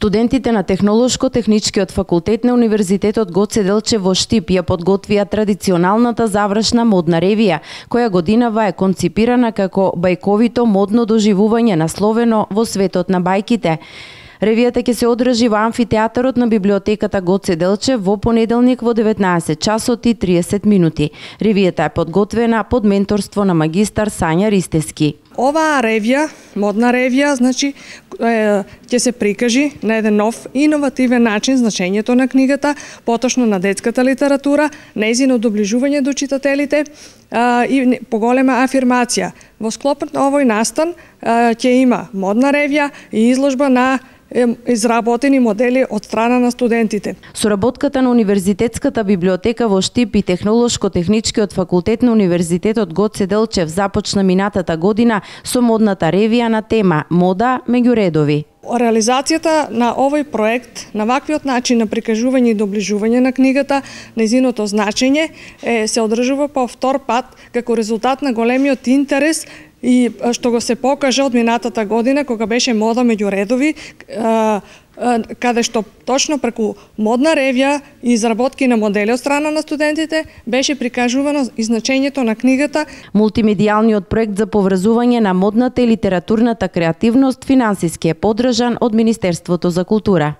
Студентите на Технолошко-техничкиот факултет на Универзитетот Гоце Делчев во Штип ја подготвија традиционалната завршна модна ревија, која годинава е конципирана како бајковито модно доживување насловено во светот на бајките. Ревијата ќе се одржи во амфитеатарот на библиотеката Гоце Делчев во понеделник во 19 часот и 30 минути. Ревијата е подготвена под менторство на магистар Сања Ристески. Оваа ревија, модна ревија, значи ќе се прикажи на еден нов иновативен начин значењето на книгата, поточно на детската литература, нејзино доближување до читателите и поголема афирмација. Во склопот на овој настан ќе има модна ревија и изложба на изработени модели од страна на студентите. Соработката на Универзитетската библиотека во Штип и Технолошко-техничкиот факултет на Универзитетот Гоце Делчев започна минатата година со модната ревија на тема Мода меѓу редови. Реализацијата на овој проект, на ваквиот начин на прикажување и доближување на книгата, нејзиното значење се одржува по втор пат како резултат на големиот интерес и што го се покажа од минатата година кога беше Мода меѓу редови, каде што точно преку модна ревија и изработки на модели од страна на студентите беше прикажувано и значењето на книгата. Мултимедијалниот проект за поврзување на модната и литературната креативност финансиски е поддржан од Министерството за култура.